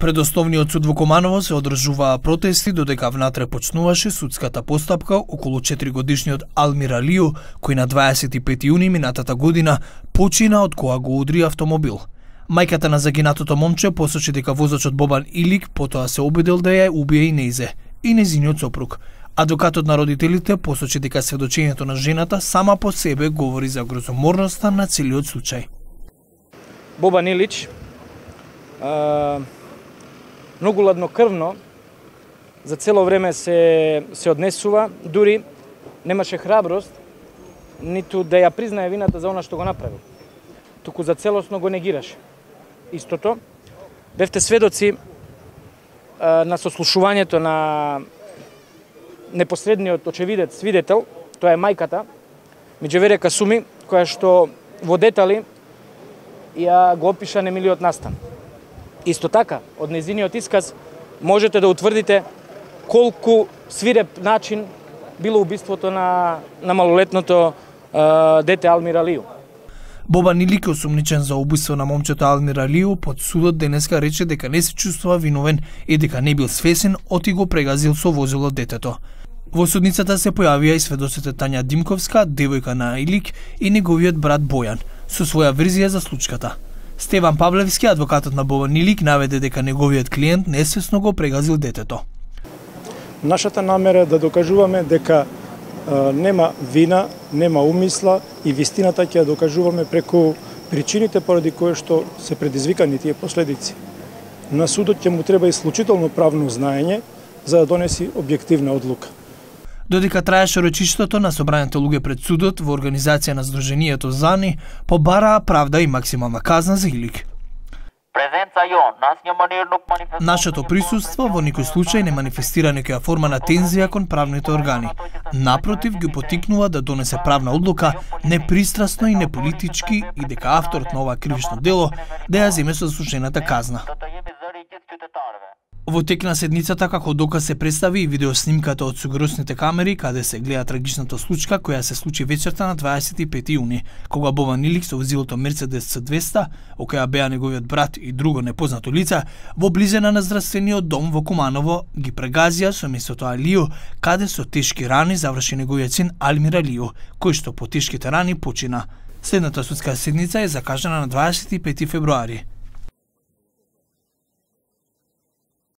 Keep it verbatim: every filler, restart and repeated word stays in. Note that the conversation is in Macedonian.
Пред Основниот суд во Куманово се одржуваа протести додека внатре почнуваше судската постапка околу четиригодишниот Алмир Алију, кој на дваесет и пети јуни минатата година почина од кога го удри автомобил. Мајката на загинатото момче посочи дека возачот Бобан Илик потоа се обидел да ја убие и нејзе и нејзиниот сопруг. Адвокатот на родителите посочи дека сведочењето на жената сама по себе говори за грозоморноста на целиот случај. Бобан Илич а... многу ладнокрвно за цело време се се однесува, дури немаше храброст ниту да ја признае вината за она што го направил. Туку за целосно го негираше. Истото, бевте сведоци а, на сослушувањето на непосредниот очевидец, свидетел, тоа е мајката, Миџеверија Касуми, која што во детали ја го опиша немилиот настан. Исто така, од нејзиниот исказ можете да утврдите колку свиреп начин било убиството на, на малолетното а, дете Алмир Алију. Бобан Илик, осумничен за убиство на момчето Алмир Алију, под судот денеска рече дека не се чувствува виновен и дека не бил свесен оти го прегазил со возило детето. Во судницата се појавија и сведоците Тања Димковска, девојка на Илик, и неговиот брат Бојан, со своја верзија за случката. Стеван Павлевски, адвокатот на Бобан Илик, наведе дека неговиот клиент несвесно го прегазил детето. Нашата намера е да докажуваме дека а, нема вина, нема умисла и вистината ќе ја докажуваме преку причините поради кои што се предизвикани тие последици. На судот ќе му треба исклучително правно знаење за да донеси објективна одлука. Додека траеше речиштото на собраните луѓе пред судот во организација на Сдруженијето ЗАНИ, побараа правда и максимална казна за Илик. Нашето присуство во никој случај не манифестира некоја форма на тензија кон правните органи. Напротив, ги потикнува да донесе правна одлука непристрасно и неполитички и дека авторот на ова кривично дело да ја земе со заслужената казна. Во тек на седницата како доказ се представи и видеоснимката од сигурносните камери каде се гледа трагичната случка која се случи вечерта на дваесет и пети јуни, кога Бобан Илик со возилото Мерцедес Ц двеста, во која беа неговиот брат и друго непознато лице, во близина на здравствениот дом во Куманово ги прегазија со местото Алију, каде со тешки рани заврши неговиот син Алмир Алију, кој што по тешките рани почина. Следната судска седница е закажана на дваесет и пети февруари.